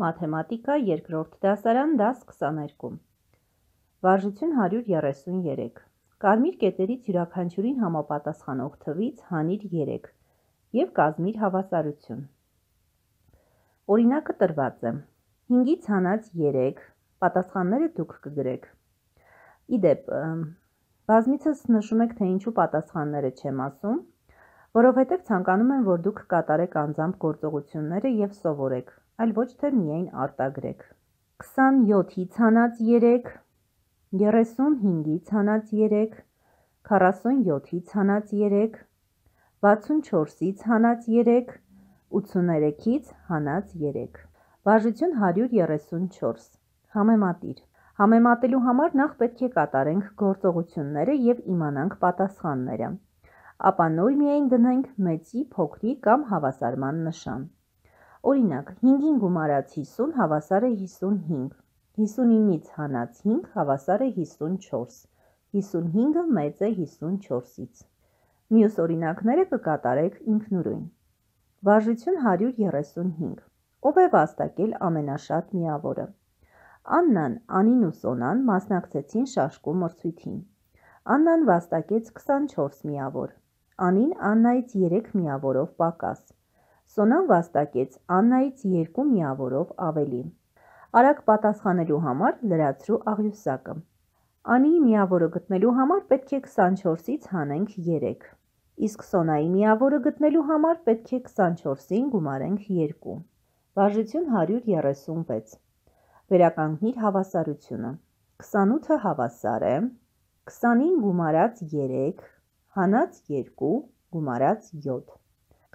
Մաթեմատիկա երկրորդ դասարան դաս 22 Վարժություն 133 Կարմիր կետերից յուրաքանչյուրին համապատասխանող թվից հանիր 3 և կազմիր հավասարություն։ Օրինակը տրված է 5-ից հանած 3 պատասխանները դուք կգրեք։ Իդեպ, բազմիցս նշում եք, թե ինչու պատասխանները չեմ ասում, որովհետև ցանկանում եմ, որ դուք կատարեք անձամբ գործողությունները և սովորեք, այլ ոչ թե միայն արտագրեք։ 27-ից հանած 3, 35-ից հանած 3, 47-ից հանած 3, 64-ից հանած 3, 83-ից հանած 3։ Վարժություն 134 Համեմատիր։ Համեմատելու համար նախ պետք է կատարենք գործողությունները և իմանանք պատասխանները, ապա նոր միայն դնենք մեծի, փոքրի կամ հավասարման նշան։ Օրինակ, 5-ին գումարած 50 հավասար է 55, 59-ից հանած 5 հավասար է 54, 55-ը մեծ է 54-ից։ Մյուս օրինակները կկատարեք ինքնուրույն։ Վարժություն 135 Ով է վաստակել ամենաշատ միավորը։ Աննան, Անին ու Սոնան մասնակցեցին շաշկու մրցույթին։ Աննան վաստակեց 24 միավոր, Անին Աննայից 3 միավորով պակաս։ Սոնան վաստակեց Աննայից 2 միավորով ավելի։ Արագ պատասխանելու համար լրացրու աղյուսակը։ Անիի միավորը գտնելու համար պետք է 24-ից հանենք 3, իսկ Սոնայի միավորը գտնելու համար պետք է 24-ին գումարենք 2։ Վարժություն 136 Վերականգնիր հավասարությունը։ 28-ը հավասար է 20-ին գումարած 3 հանած 2 գումարած 7։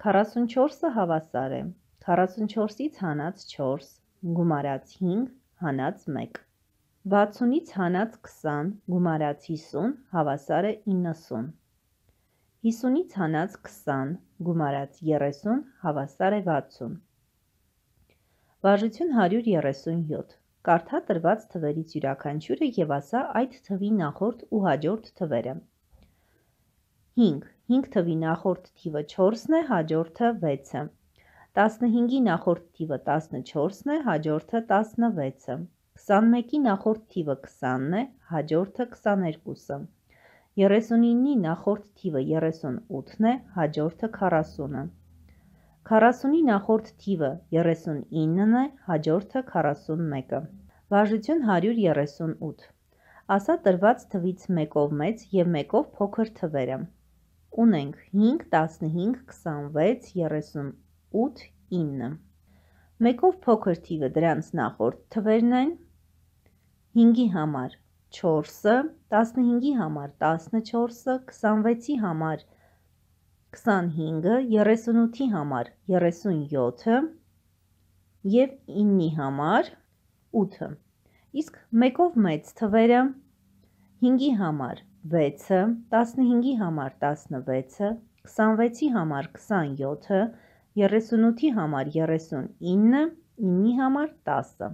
44-ը հավասար է 44-ից հանած 4 գումարած 5 հանած 1։ 60-ից հանած 20 գումարած 50 հավասար է 90։ 50-ից հանած 20 գումարած 30 հավասար է 60։ Վարժություն 137 Կարդա տրված թվերից յուրաքանչյուրը և ասա այդ թվի նախորդ ու հաջորդ թվերը։ 5 թվի նախորդ թիվը 4-ն է, հաջորդը 6-ը։ 15-ի նախորդ թիվը 14-ն է, հաջորդը 16-ը։ 21-ի նախորդ թիվը 20-ն է, հաջորդը 22-ը։ 39-ի նախորդ թիվը 38-ն է, հաջորդը 40-ը։ 40-ի նախորդ թիվը 39-ն է, հաջորդը 41-ը։ Վարժություն 138 Ասա տրված թվից մեկով մեծ և մեկով փոքր թվերը։ Ունենք 5, 15, 26, 38, 9։ Մեկով փոքր թիվը դրանց նախորդ թվերն են 5-ի համար 4-ը, 15-ի համար 14-ը, 26-ի համար 25-ը, 38-ի համար 37-ը և 9-ի համար 8-ը։ Իսկ մեկով մեծ թվերը 5-ի համար 6-ը, 15-ի համար 16-ը, 26-ի համար 27-ը, 38-ի համար 39-ը, 9-ի համար 10-ը։